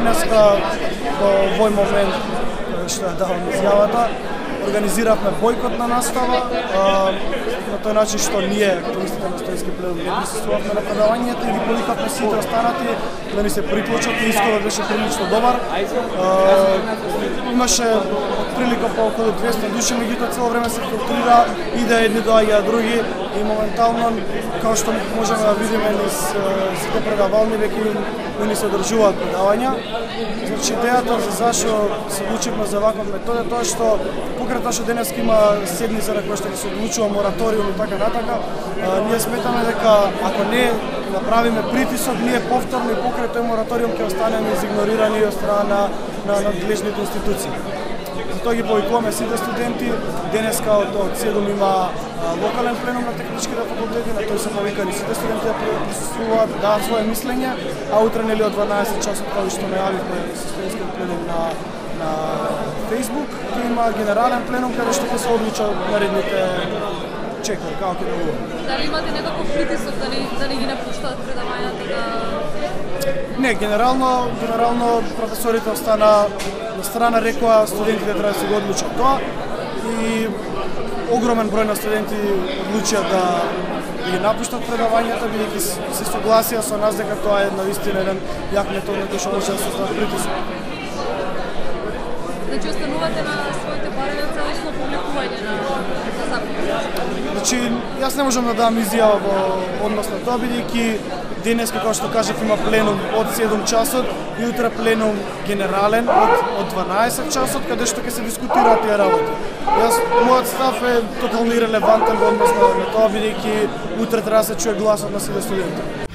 денеска до овој момент што ја давам изјавата, организиравме бойкот на настава, на тој начин што ние, активистите на студентски пленум, не присуствувавме на предавањето и ги повикавме сите останати да ни се приклучат и исходот беше прилично добар. Имаше прилика по околу 200 души, меѓутоа цело време се филтрира и да едни доаѓаат други и моментално, како што можеме да видиме низ сите предавални, веќе ни се одржуваат предавања. Значи, идејата за зашо се одлучивме за ваков метод е тоа што покрај тоа што денес има седница на која што се одлучува мораториум и така натака, ние сметаме дека ако не направиме притисок, ние повторно и покрај тој мораториум ќе останеме изигнорирани од страна на надлежните институции. Затоа ги повикуваме сите студенти. Денеска од 7 има локален пленум на техничките факултети, на тој се повикани сите студенти да присуствуваат, да дадат свое мислење, а утре нели од 12 часот, како што најавивме со студентскиот пленум на Facebook, ќе има генерален пленум каде што ќе се одлуча наредните чекори, како ќе да бъде. Дали имате некаков притисок да не ги напуштаат предавањата да... Не, генерално професорите остана на страна, рекоа студентите треба да се го одлучат тоа и огромен број на студенти одлучија да ги напуштат предавањата, бидејќи се согласија со нас дека тоа е навистина еден јак метод на кој што може да се создава притисок. Значи останувате на своите барања целосно публикување на запис? Значи, јас не можам да дам изјава во однос на тоа, бидејќи денес, како што кажав, има пленум од 7 часот и утре пленум генерален од 12 часот, каде што ќе се дискутираат тие работи. Мојот став е тотално ирелевантен во однос на тоа, бидејќи утре треба да се чуе гласот на сите студенти.